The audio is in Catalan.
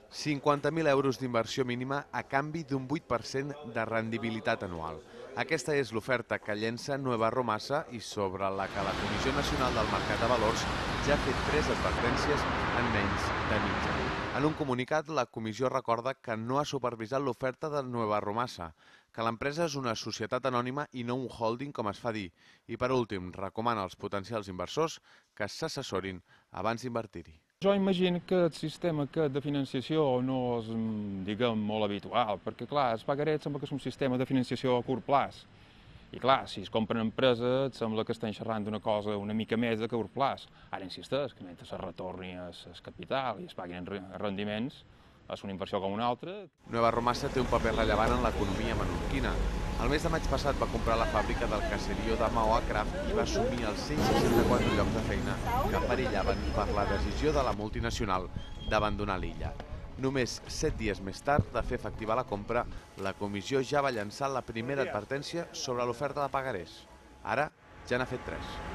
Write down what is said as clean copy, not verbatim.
50.000 euros d'inversió mínima a canvi d'un 8% de rendibilitat anual. Aquesta és l'oferta que llença Nueva Romassa i sobre la que la Comissió Nacional del Mercat de Valors ja ha fet 3 advertències en menys de mig any. En un comunicat, la comissió recorda que no ha supervisat l'oferta de Nueva Romassa, que l'empresa és una societat anònima i no un holding com es fa dir, i per últim recomana als potencials inversors que s'assessorin abans d'invertir-hi. Jo imagino que el sistema aquest de financiació no és, diguem, molt habitual, perquè, clar, el pagaré sembla que és un sistema de financiació a curt plaç. I, clar, si es compren empreses, sembla que estan xerrant d'una cosa una mica més a curt plaç. Ara insisteix que mentre es retorni el capital i es paguin rendiments, és una inversió com una altra. Nueva Romassa té un paper rellevant en l'economia menorquina. El mes de maig passat va comprar la fàbrica del caserío de Maó a Craft i va assumir els 164 llocs de feina que perillaven per la decisió de la multinacional d'abandonar l'illa. Només 7 dies més tard de fer efectiva la compra, la comissió ja va llançar la primera advertència sobre l'oferta de pagarés. Ara ja n'ha fet 3.